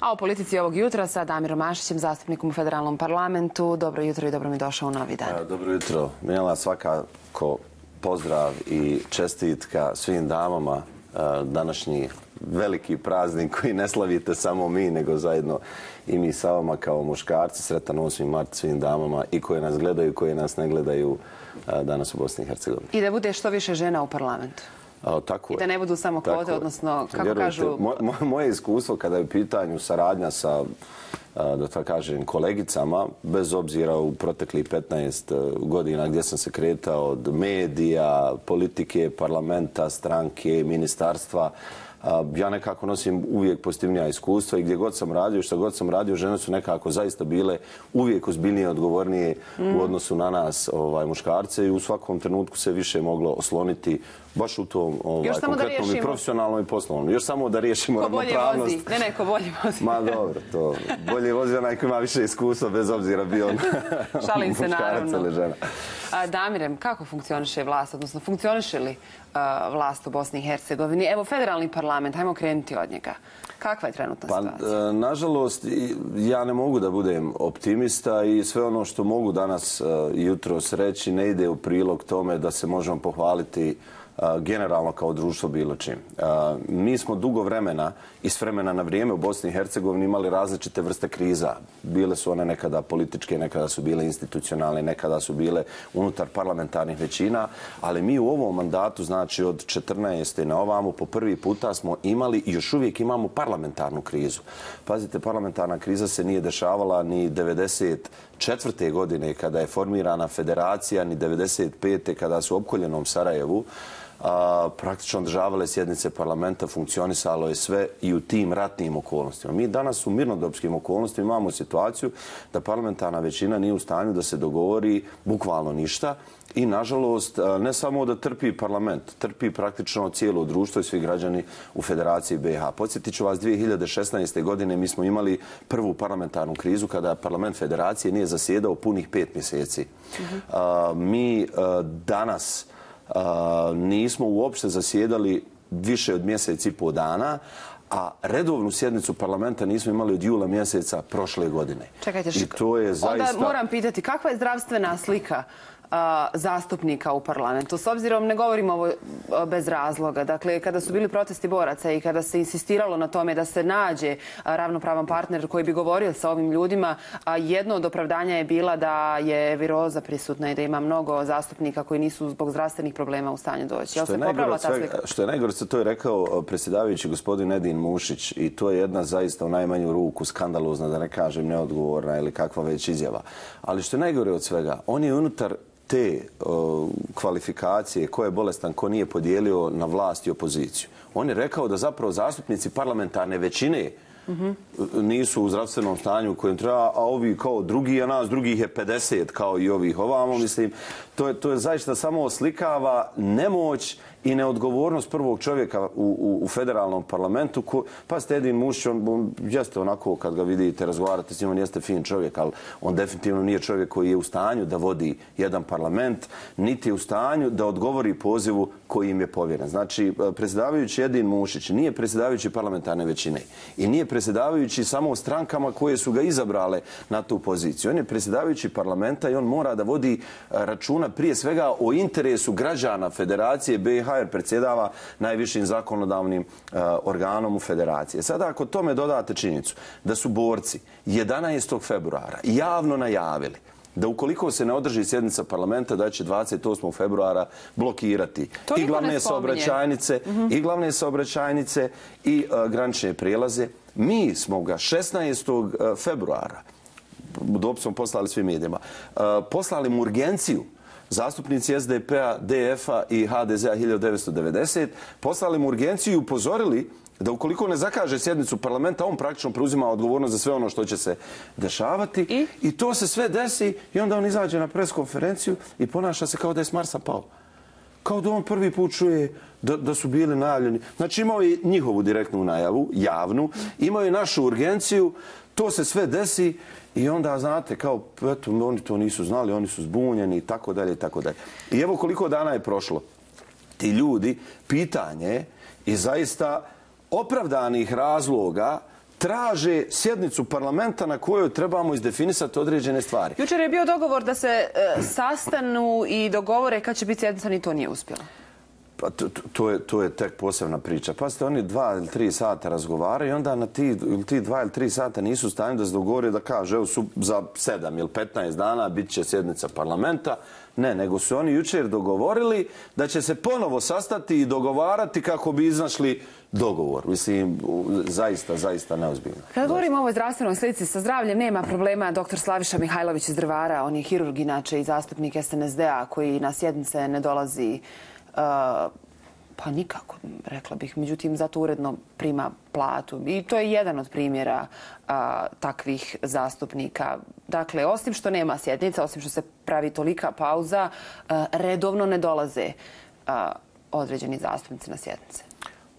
A o politici ovog jutra sa Damirom Mašićem, zastupnikom u Federalnom parlamentu. Dobro jutro i dobro mi došao u novi dan. Dobro jutro. Mijela, svakako pozdrav i čestitka svim damama. Današnji veliki praznik koji ne slavite samo mi, nego zajedno i mi sa vama kao muškarci. Sretan 8. mart svim damama i koje nas gledaju i koje nas ne gledaju danas u Bosni i Hercegovini. I da bude što više žena u parlamentu. Tako I da ne budu samo kvote, odnosno, kako kažu... Moje iskustvo kada je u pitanju saradnja sa, da tako kažem, kolegicama, bez obzira u proteklih 15 godina gdje sam se kretao od medija, politike, parlamenta, stranke, ministarstva, ja nekako nosim uvijek pozitivnija iskustva i gdje god sam radio, što god sam radio, žene su nekako zaista bile uvijek ozbiljnije, odgovornije u odnosu na nas muškarce i u svakom trenutku se više moglo osloniti baš u tom konkretnom i profesionalnom i poslovnom. Još samo da riješimo ravnopravnost. Ko bolje vozi? Ne, ko bolje vozi. Ma dobro, to bolje vozi onaj ko ima više iskustva, bez obzira bio on muškarac ili žena. Damirem, kako funkcioniše vlast, odnosno funkcioniše li vlast u Bosni i Hercegovini? Evo, federalni parlament, hajmo krenuti od njega. Kakva je trenutna situacija? Nažalost, ja ne mogu da budem optimista i sve ono što mogu danas jutros reći ne ide u prilog tome da se možemo pohvaliti generalno kao društvo bilo čim. Mi smo dugo vremena i s vremena na vrijeme u Bosni i Hercegovini imali različite vrste kriza. Bile su one nekada političke, nekada su bile institucionalne, nekada su bile unutar parlamentarnih većina, ali mi u ovom mandatu, znači od 14. na ovamo, po prvi puta smo imali i još uvijek imamo parlamentarnu krizu. Pazite, parlamentarna kriza se nije dešavala ni 1994. godine kada je formirana federacija, ni 1995. kada su u opkoljenom Sarajevu praktično održavale sjednice parlamenta, funkcionisalo je sve i u tim ratnim okolnostima. Mi danas u mirnodopskim okolnostima imamo situaciju da parlamentarna većina nije u stanju da se dogovori bukvalno ništa i, nažalost, ne samo da trpi parlament, trpi praktično cijelo društvo i svi građani u Federaciji BiH. Podsjetit ću vas, 2016. godine mi smo imali prvu parlamentarnu krizu kada parlament Federacije nije zasjedao punih 5 mjeseci. Mi danas nismo uopšte zasjedali više od mjesec i pol dana, a redovnu sjednicu parlamenta nismo imali od jula mjeseca prošle godine. Čekajte, onda moram pitati, kakva je zdravstvena slika zastupnika u parlamentu? S obzirom, ne govorimo ovo bez razloga. Dakle, kada su bili protesti boraca i kada se insistiralo na tome da se nađe ravnopravan partner koji bi govorio sa ovim ljudima, jedno od opravdanja je bila da je viroza prisutna i da ima mnogo zastupnika koji nisu zbog zdravstvenih problema u stanju doći. Što je najgore, to je rekao predsjedavajući gospodin Edin Mušić i to je jedna zaista u najmanju ruku skandalozna, da ne kažem neodgovorna ili kakva već izjava. Ali što je najgore od svega, on je unutar te kvalifikacije ko je bolestan, ko nije podijelio na vlast i opoziciju. On je rekao da zapravo zastupnici parlamentarne većine nisu u zdravstvenom stanju u kojem treba, a ovi kao drugi, a nas drugih je 50 kao i ovih ovamo, mislim. To je zaista samo oslikava nemoć i neodgovornost prvog čovjeka u federalnom parlamentu. Pazite, Edin Mušić, on jeste onako, kad ga vidite, razgovarate s njim, on jeste fin čovjek, ali on definitivno nije čovjek koji je u stanju da vodi jedan parlament, niti je u stanju da odgovori pozivu koji im je povjeren. Znači, predsjedavajući Edin Mušić nije predsjedavajući parlamentarne većine i nije predsjedavajući samo strankama koje su ga izabrale na tu poziciju. On je predsjedavajući parlamenta i on mora da vodi računa prije svega o interesu građana Federacije BiH, jer predsjedava najvišim zakonodavnim organom u Federaciji. Sada, ako tome dodate činjenicu da su borci 11. februara javno najavili da ukoliko se ne održi sjednica parlamenta da će 28. februara blokirati i glavne saobraćajnice i granične prijelaze, mi smo ga 16. februara, dopis smo poslali svim medijima, poslali mu urgenciju, zastupnici SDP-a, DF-a i HDZ-a 1990, poslali mu urgenciju i upozorili da ukoliko ne zakaže sjednicu parlamenta, on praktično preuzima odgovornost za sve ono što će se dešavati. I to se sve desi i onda on izađe na preskonferenciju i ponaša se kao da je s Marsa pao. Kao da on prvi put čuje da su bili najavljeni. Znači imao je njihovu direktnu najavu, javnu, imao je našu urgenciju, to se sve desi i onda, znate, kao, eto, oni to nisu znali, oni su zbunjeni i tako dalje i tako dalje. I evo koliko dana je prošlo. Ti ljudi, pitanje i zaista opravdanih razloga traže sjednicu parlamenta na kojoj trebamo izdefinisati određene stvari. Jučer je bio dogovor da se sastanu i dogovore kad će biti sjednica, ni to nije uspjelo. Pa to je tek posebna priča. Pa ste oni 2 ili 3 sata razgovaraju i onda na ti 2 ili 3 sata nisu u stanju da se dogovore da kaže evo za 7 ili 15 dana bit će sjednica parlamenta. Ne, nego su oni jučer dogovorili da će se ponovo sastati i dogovarati kako bi iznašli dogovor. Mislim, zaista neozbiljno. Kad govorimo o ovoj zdravstvenoj slici, sa zdravljem nema problema. Dr. Slaviša Mihajlović iz Drvara, on je hirurg inače i zastupnik SNSD-a koji na sjednice ne dolazi pa nikako, rekla bih. Međutim, zato uredno prima platu. I to je jedan od primjera takvih zastupnika. Dakle, osim što nema sjednica, osim što se pravi tolika pauza, redovno ne dolaze određeni zastupnici na sjednice.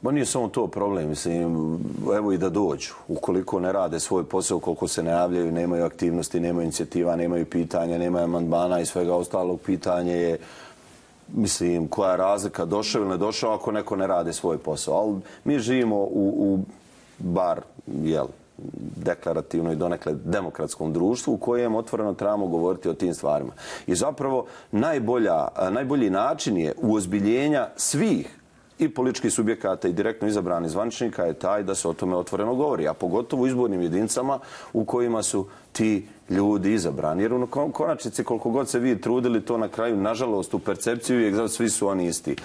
Ma nije samo to problem, mislim, evo i da dođu. Ukoliko ne rade svoj posao, koliko se ne javljaju, nemaju aktivnosti, nemaju inicijativa, nemaju pitanja, nemaju amandmana i svega ostalog, pitanje je, mislim, koja je razlika, došao ili ne došao ako neko ne radi svoj posao. Ali mi živimo u bar, deklarativno i donekle demokratskom društvu u kojem otvoreno trebamo govoriti o tim stvarima. I zapravo najbolji način je uozbiljenja svih i političkih subjekata i direktno izabranih zvaničnika je taj da se o tome otvoreno govori, a pogotovo u izbornim jedinicama u kojima su ti ljudi izabrani. Jer u konačnici, koliko god se vi trudili, to na kraju, nažalost, u percepciju je svi su oni isti.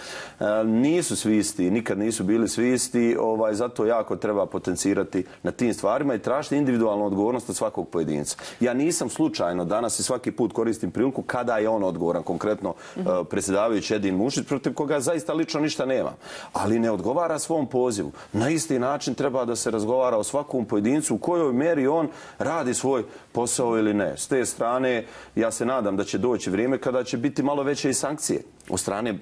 Nisu svi isti, nikad nisu bili svi isti, zato jako treba potencirati na tim stvarima i tražiti individualnu odgovornost od svakog pojedinca. Ja nisam slučajno danas i svaki put koristim priliku kada je on odgovoran, konkretno predsjedavajući Edin Mušić, protiv koga zaista lično ništa nema, ali ne odgovara svom pozivu. Na isti način treba da se razgovara o svakom pojedincu u kojoj meri on radi svoj posao ili ne. S te strane, ja se nadam da će doći vrijeme kada će biti malo veće i sankcije od strane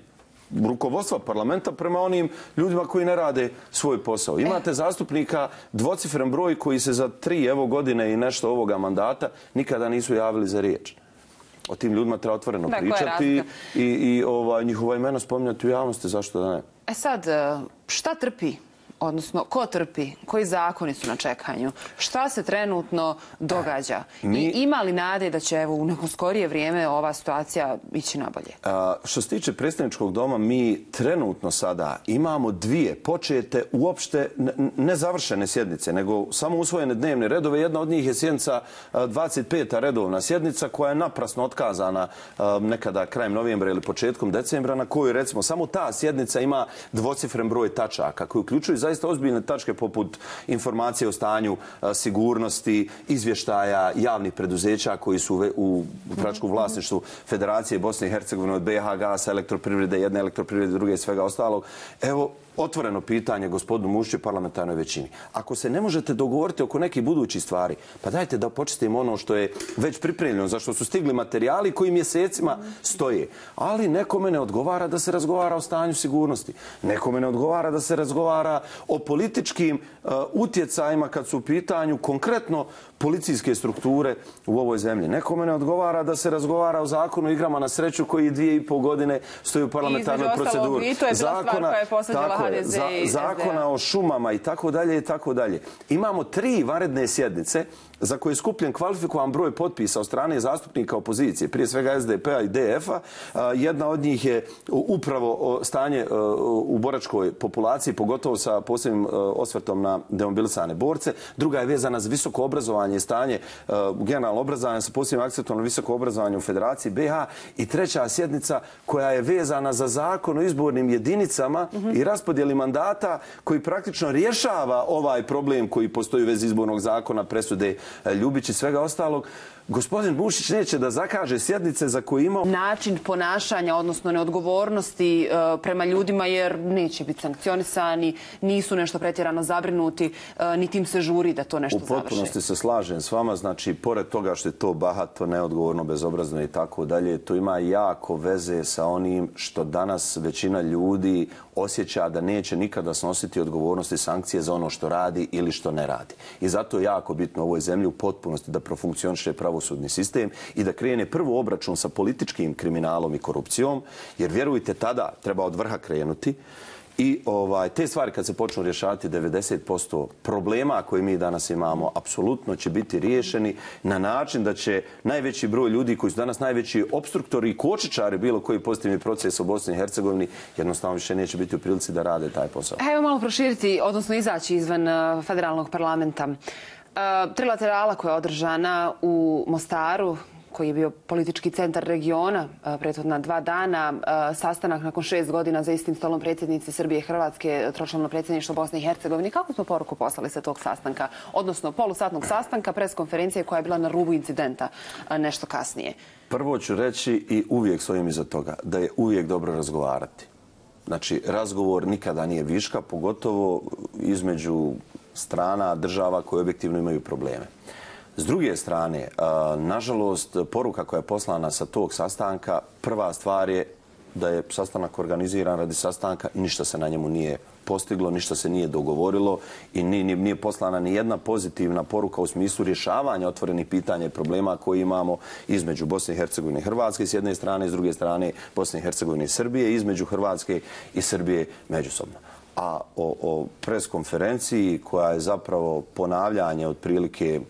rukovodstva parlamenta prema onim ljudima koji ne rade svoj posao. Imate zastupnika dvocifren broj koji se za 3 godine i nešto ovoga mandata nikada nisu javili za riječ. O tim ljudima treba otvoreno pričati i njihova imena spominjati u javnosti, zašto da ne? Sad, šta trpi? Odnosno, ko trpi? Koji zakoni su na čekanju? Šta se trenutno događa? I ima li nade da će u neko skorije vrijeme ova situacija ići nabolje? Što se tiče predsjedničkog doma, mi trenutno sada imamo 2 počete uopšte nezavršene sjednice, nego samo usvojene dnevne redove. Jedna od njih je sjednica 25. redovna sjednica koja je naprasno otkazana nekada krajem novembra ili početkom decembra, na kojoj recimo samo ta sjednica ima dvocifren broj tačaka koji uključuju zaista ozbiljne tačke poput informacije o stanju sigurnosti, izvještaja javnih preduzeća koji su u upravljačkom vlasništvu Federacije Bosne i Hercegovine, od BiH Gasa, elektroprivrede, jedne elektroprivrede, druge i svega ostalog. Evo, otvoreno pitanje gospodinu Mušiću i parlamentarnoj većini. Ako se ne možete dogovoriti oko nekih budućih stvari, pa dajte da počistimo ono što je već pripremljeno, za što su stigli materijali koji mjesecima stoje. Ali nekome ne odgovara da se razgovara o stanju sigurnosti. Nekome ne odgovara da se razgovara o političkim utjecajima kad su u pitanju konkretno policijske strukture u ovoj zemlji. Nekome ne odgovara da se razgovara o zakonu o igrama na sreću koji 2,5 godine stoji u parlamentarnoj proceduri. I to je bila stvar koja je posveđala HDZ i zakona o šumama i tako dalje i tako dalje. Imamo 3 vanredne sjednice za koje je skupljen kvalifikovan broj potpisa od strane zastupnika opozicije, prije svega SDP-a i DF-a. Jedna od njih je upravo stanje u boračkoj populaciji, pogotovo sa posebnim osvrtom na demobilisane borce. Druga je vezana za visoko obrazovanje i stanje generalno obrazovanje sa posebnim akcentom na visoko obrazovanje u Federaciji BiH. I treća sjednica koja je vezana za zakon o izbornim jedinicama i raspodjeli mandata koji praktično rješava ovaj problem koji postoji u vezi izbornog zakona, presude Ljubić i svega ostalog. Gospodin Mušić neće da zakaže sjednice za koje imao način ponašanja, odnosno neodgovornosti prema ljudima, jer neće biti sankcionisani, nisu nešto pretjerano zabrinuti, niti im se žuri da to nešto završi. U potpunosti se slažem s vama, znači, pored toga što je to bahato, neodgovorno, bezobrazno i tako dalje, to ima jako veze sa onim što danas većina ljudi osjeća da neće nikada snositi odgovornosti i sankcije za ono što radi ili što ne radi. I zato je jako bitno u ovoj zemlji u potpunosti da profunkcioniše pravosudni sistem i da krene prvo obračun sa političkim kriminalom i korupcijom, jer vjerujte, tada treba od vrha krenuti I te stvari kad se počnu rješavati, 90% problema koje mi danas imamo apsolutno će biti riješeni na način da će najveći broj ljudi koji su danas najveći opstruktori i kočničari bilo koji pozitivni proces u Bosni i Hercegovini jednostavno više neće biti u prilici da rade taj posao. Evo malo proširiti, odnosno izaći izvan federalnog parlamenta. Trilaterala koja je održana u Mostaru, koji je bio politički centar regiona prethodna 2 dana, sastanak nakon 6 godina za istim stolom predsjednice Srbije i Hrvatske, tročlano predsjedništvo Bosne i Hercegovine. Kako smo poruku poslali sa tog sastanka, odnosno polusatnog sastanka, preskonferencije koja je bila na rubu incidenta nešto kasnije? Prvo ću reći i uvijek stojim iza toga, da je uvijek dobro razgovarati. Znači, razgovor nikada nije viška, pogotovo između strana, država koje objektivno imaju probleme. S druge strane, nažalost, poruka koja je poslana sa tog sastanka, prva stvar je da je sastanak organiziran radi sastanka i ništa se na njemu nije postiglo, ništa se nije dogovorilo i nije poslana ni jedna pozitivna poruka u smislu rješavanja otvorenih pitanja i problema koje imamo između Bosne i Hercegovine i Hrvatske s jedne strane, s druge strane Bosne i Hercegovine i Srbije, između Hrvatske i Srbije međusobno. A o preskonferenciji koja je zapravo ponavljanje otprilike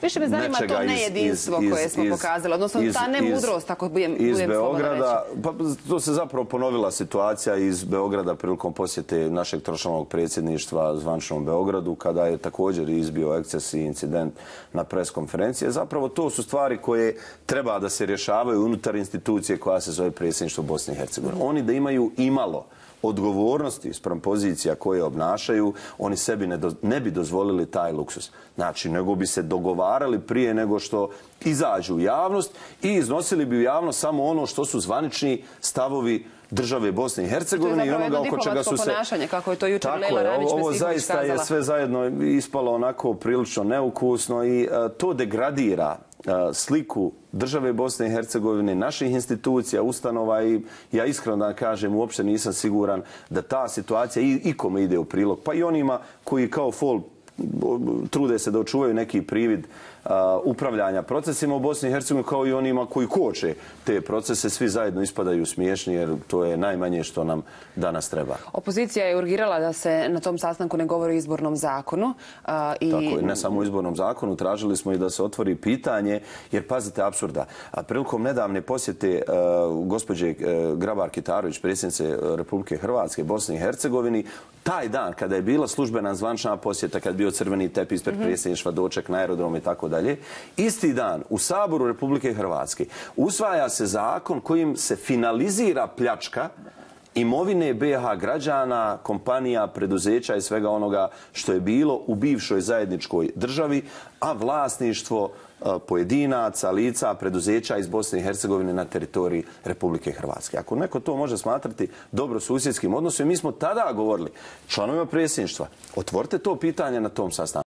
više me zanima to nejedinstvo koje smo pokazali, odnosno ta nemudrost, ako budem slobodno reći. Pa to se zapravo ponovila situacija iz Beograda prilikom posjete našeg tročlanog predsjedništva zvaničnom Beogradu, kada je također izbio eksces i incident na preskonferenciji. Zapravo to su stvari koje treba da se rješavaju unutar institucije koja se zove predsjedništvo Bosne i Hercegovine. Oni da imaju imalo odgovornosti spram pozicija koje obnašaju, oni sebi ne bi dozvolili taj luksus. Znači, nego bi se dogovarali prije nego što izađu u javnost i iznosili bi u javnost samo ono što su zvanični stavovi države Bosne i Hercegovine i onoga oko čega su se... To je zapravo jedno diplomatsko ponašanje, kako je to jučer Lejla Ranić-Mestihović kazala. Ovo zaista je sve zajedno ispalo onako prilično neukusno i to degradira sliku države Bosne i Hercegovine, naših institucija, ustanova i ja iskreno da kažem uopšte nisam siguran da ta situacija ikome ide u prilog. Pa i onima koji kao fol trude se da očuvaju neki privid upravljanja procesima u Bosni i Hercegovini, kao i onima koji koče te procese, svi zajedno ispadaju smiješni jer to je najmanje što nam danas treba. Opozicija je urgirala da se na tom sastanku ne govori o izbornom zakonu. Tako je, ne samo o izbornom zakonu, tražili smo i da se otvori pitanje, jer pazite apsurda, prilikom nedavne posjete gospođe Grabar-Kitarović, predsjednice Republike Hrvatske, Bosne i Hercegovini, taj dan kada je bila službena zvančna posjeta, kad je bio crveni tepih ispred predsjedništva, doček na aerodrom i tako dalje, isti dan u Saboru Republike Hrvatske usvaja se zakon kojim se finalizira pljačka imovine BiH građana, kompanija, preduzeća i svega onoga što je bilo u bivšoj zajedničkoj državi, a vlasništvo pojedinaca, lica, preduzeća iz Bosne i Hercegovine na teritoriji Republike Hrvatske. Ako neko to može smatrati dobrosusjedskim odnosom, mi smo tada govorili članovima predsjedništva, otvorite to pitanje na tom sastanku.